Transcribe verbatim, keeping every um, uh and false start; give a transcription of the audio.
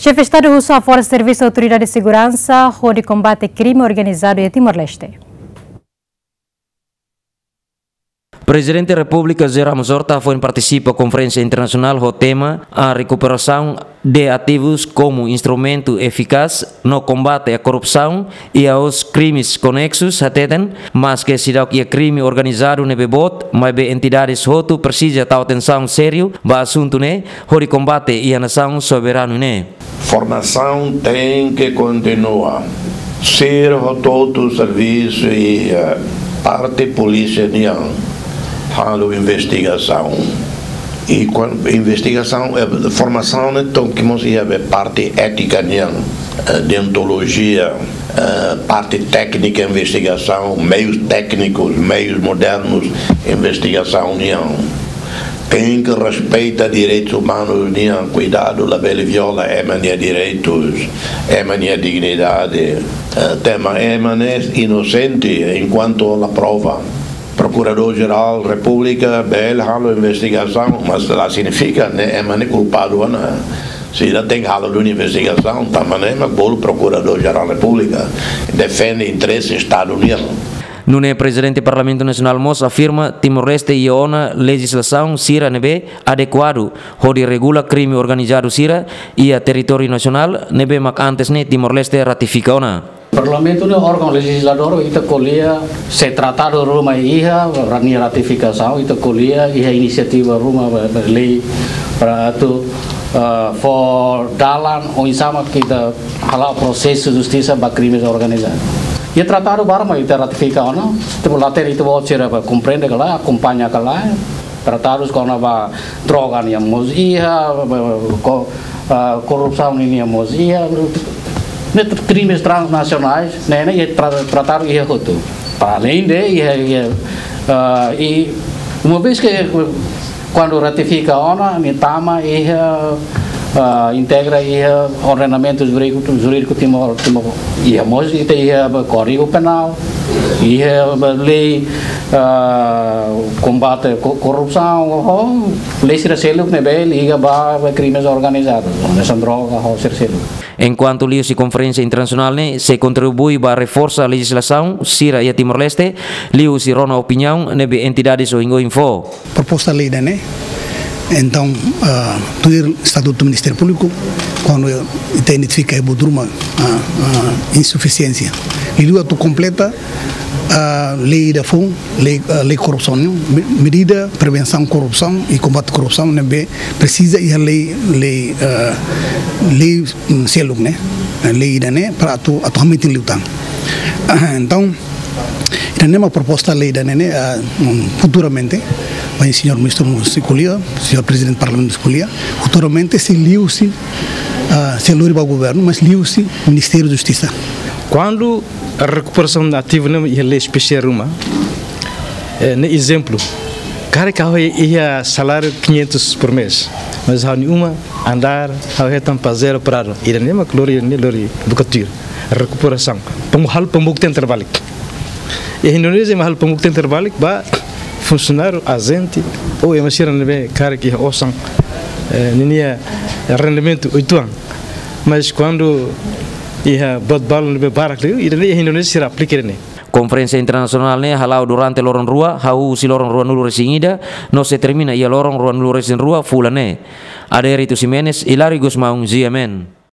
Xefe Estadu husu hafo'er servisu Autoridade Seguransa hodi kombate krime organizadu iha Timor-Leste. Prezidente Repúblika José Ramos Horta foin partisipa konferénsia internasionál ho tema A Recuperação de Ativos como Instrumento Eficaz no Combate à Corrupção e aos Crimes Conexos, hateten, maske seidauk iha krime organizadu ne'ebé boot, maibé entidades hotu presiza tau atensaun sériu ba asuntu ne'e, hodi kombate iha nasaun soberanu ne'e. Formasaun tenke kontinua. Sira hotu-hotu servisu iha, eh, parte polísia nian halo investigasaun. I kuan-, investigasaun, eh, formasaun ne'e tenke mós iha be parte étika nian, eh, deontolojia, eh, parte téknika investigasaun, meius téknikus, meius modernus investigasaun nian. Tenke respeita direitus umanus nian, kuidadu labele viola ema nia direitus, ema nia dignidade. Eh, tanba ema ne'e inosente enkuantu la prova. Prokuradór Jerál Repúblika bele halo investigasaun, mas la signifika ne'e ema ne'e kulpadu ona. Sira tenke halo duni investigasaun, tanba ne'e mak bolu Prokuradór Jerál Repúblika defende interese Estadu nian. Nune'e Prezidente Parlamentu Nasionál mós afirma Timor-Leste iha ona lejizlasaun sira ne'ebé adekuadu hodi regula krime organizadu sira iha territóriu nasionál ne'ebé mak antes ne'e Timor-Leste ratifika ona. Parlamentu ne'e órgaun lejizladór, ita ko'alia se tratadu ruma iha, nia ratifikasaun, ita ko'alia iha inisiativa ruma ba, ba lei para atu, ah, fó dalan oinsá mak ita hala'o prosesu justisa ba krimes organizadu. Iha tratadu barak mak ita ratifika ona, ita-boot, ita-boot sira ba komprende ka lae, akompaña ka lae, tratadus kona-ba droga nian mós iha, ba, ba, ko-, ah, korrupsaun nian mós iha, ne'e krimes transnasionais, ne'e, ne'e iha tra-, tratadu iha hotu. Para além de, iha, iha, ah, i uma vez que, kuandu ratifika ona, nia tama iha, ah, integra iha ordenamentu jurídiku, jurídiku Timor, Timor. Iha mós ita iha ba Kódigu Penál, iha ba lei, ah, kombate ko-, korrupsaun, ho lei sira seluk ne'ebé liga ba, ba krimes organizadu, hanesan droga, ho sira seluk. Enkuantu liuhusi konferénsia internasionál ne'e sei kontribui ba reforsa lejizlasaun sira iha Timor-Leste, liuhusi rona opiniaun ne'ebé entidades oioin fó. Proposta lei ida-ne'e. Entaun, ah, tuir Estatutu Ministériu Públiku, kuandu ita identifika iha buat ruma, ah, ah, insufisiénsia, liuliu atu kompleta, ah, lei ida foun, lei, ah, lei korrupsaun, me-, medida prevensaun korrupsaun i kombate korrupsaun ne'ebé presiza iha lei, lei, ah, lei, mm, seluk ne'e, lei ida-ne'e para atu, atu hametin liután. Entaun, ida-ne'e mak proposta lei ida-ne'e, ah, mm, futuramente, ba señór ministru mós sei ko'alia, señór Prezidente Parlamentu mós sei ko'alia, futuramente sei liuhusi, ah, sei lori ba governu, mas liuhusi Ministériu Justisa. Kuandu rekuperasaun ativu ne'e iha lei espesiál ruma, eh, ne'e ezemplu, karik ha'u iha saláriu quinhentos por mês, mas ha'u-nia uma andár, ha'u hetan pazero prado. Ida-ne'e mak lori, ida-ne'e lori buka tuir rekuperasaun. Pam-, halo pambuktian terbalik. Iha Indonézia mak halo pambuktian terbalik ba funsionáriu, ajente, ou ema sira ne'ebé karik iha osan, eh, ninia rendimentu oituan. Mas kuandu iha buat balu ne'ebé barak liu, ida-ne'e iha Indonézia sira aplika ida-ne'e. Konferénsia internasionál ne'e hala'o durante loron rua, hahú husi loron ruanulu-resin-ida, no sei termina iha loron ruanulu-resin-rua fulan ne'e. Adérito Ximenes, Hilário Gusmão, G M N.